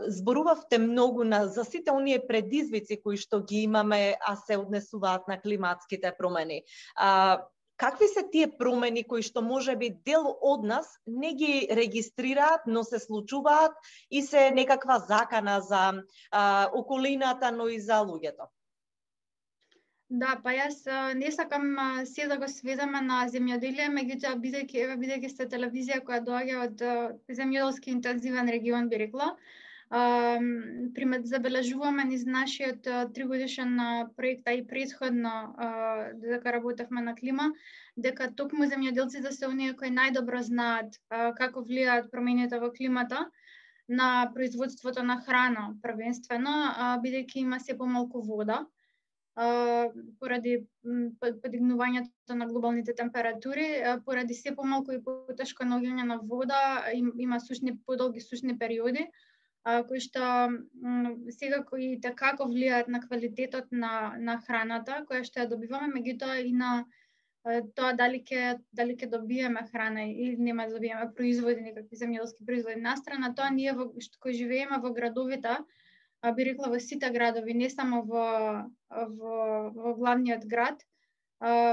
Зборувавте многу за сите оние предизвици кои што ги имаме, а се однесуваат на климатските промени. Какви се тие промени кои што можеби дел од нас не ги регистрираат, но се случуваат и се некаква закана за околината, но и за луѓето? Да, па јас не сакам се да го сведеме на земјоделие, меѓутоа бидејќи сте телевизија која доаѓа од земјоделски интензивен регион, би рекла, забележуваме низ нашиот 3-годишен проект, а и претходно дека работевме на клима, дека токму земјоделците се оние кои најдобро знаат како влијаат промените во климата на производството на храна, првенствено, бидејќи има се помалку вода поради подигнувањето на глобалните температури, поради се помалку и потешко наоѓање на вода, има подолги сушни периоди, кои што секако и како влијаат на квалитетот на храната која што ја добиваме, меѓутоа и на тоа дали ќе добиеме храна или нема да добиеме производи, некакви земјоделски производи. Настрана тоа, ние кои живееме во градовите, би рекла во сите градови, не само во главниот град,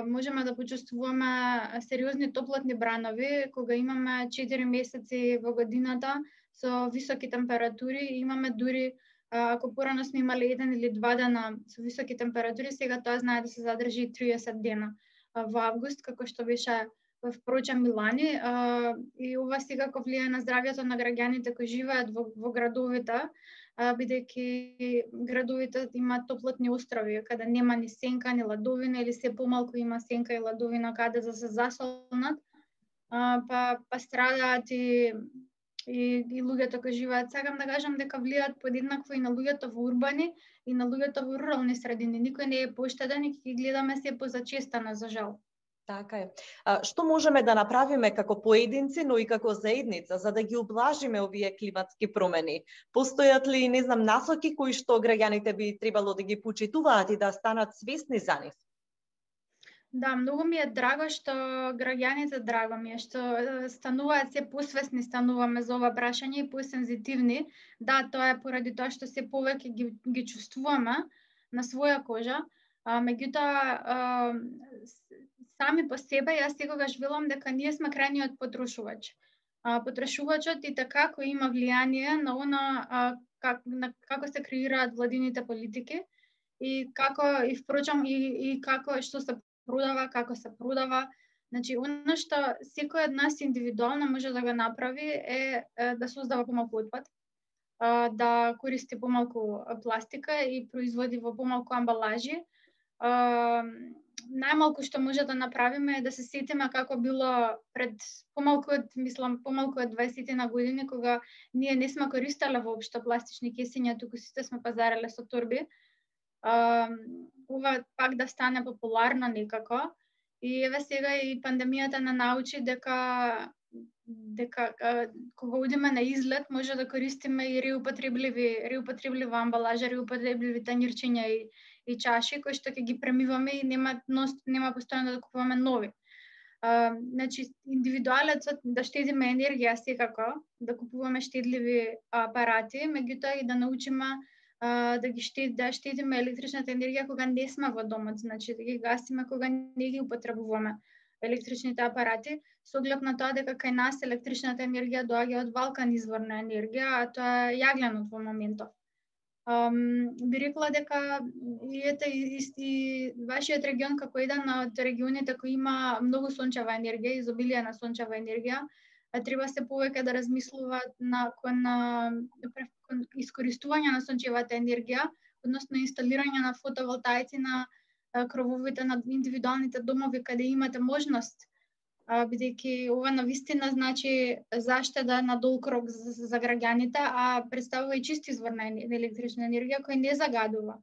можеме да почувствуваме сериозни топлотни бранови, кога имаме 4 месеци во годината со високи температури, имаме дури, ако порано сме имали 1 или 2 дена со високи температури, сега тоа знае да се задржи 30 дена во август, како што беше впрочем Милани, и ова секако влијае на здравјето на граѓаните кои живеат во градовите, бидејќи градовите имаат топлотни острови, каде нема ни сенка, ни ладовина, или се помалку има сенка и ладовина каде да се засолнат, па страдаат и луѓето кои живеат. Сакам да кажам дека влијаат подеднакво и на луѓето во урбани и на луѓето во рурални средини. Никој не е поштеден и ги гледаме се позачестано, за жал. Така е. Што можеме да направиме како поединци, но и како заедница, за да ги облажиме овие климатски промени? Постојат ли, не знам, насоки кои што граѓаните би требало да ги почитуваат и да станат свесни за нив? Да, многу ми е драго што граѓаните, што стануваат се посвесни, стануваме за ова прашање и посензитивни. Да, тоа е поради тоа што се повеќе ги чувствуваме на своја кожа, меѓутоа сами по себе, јас секогаш велам дека ние сме крајниот потрошувач. Потрошувачот и така кој има влијание на она како се креираат владините политики и како и впрочем и како што се продава, како се продава. Значи, оно што секој од нас индивидуално може да го направи е да создава помалку отпад, да користи помалку пластика и производи во помалку амбалажи. Најмалку што може да направиме е да се сетиме како било пред помалку од 20 на години, кога ние не сме користеле воопшто пластични кесиња, туку сите сме пазареле со торби. Ова пак да стане популарно некако. И еве сега и пандемијата на научи дека кога одиме на излет може да користиме и реупотребливи амбалажа, реупотребливи танјирчиња и чаши кои што ќе ги премиваме и нема постојано да купуваме нови. Значи, индивидуалецот да штедиме енергија секако, да купуваме штедливи апарати, меѓутоа и да научиме да штедиме електричната енергија кога не сме во домот, значи да ги гасиме кога не ги употребуваме електричните апарати, со оглед на тоа дека кај нас електричната енергија доаѓа од валкан извор на енергија, а тоа е јагленот во моментов. Би рекла дека и вашиот регион како еден од регионите кои има многу сончева енергија, изобилие на сончева енергија, треба се повеќе да размислуваат кон искористување на сончевата енергија, односно инсталирање на фотоволтаици на крововите на индивидуалните домови каде имате можност, бидејќи ова навистина значи заштеда на долг рок за граѓаните, а представува и чист извор на електрична енергија кој не загадува.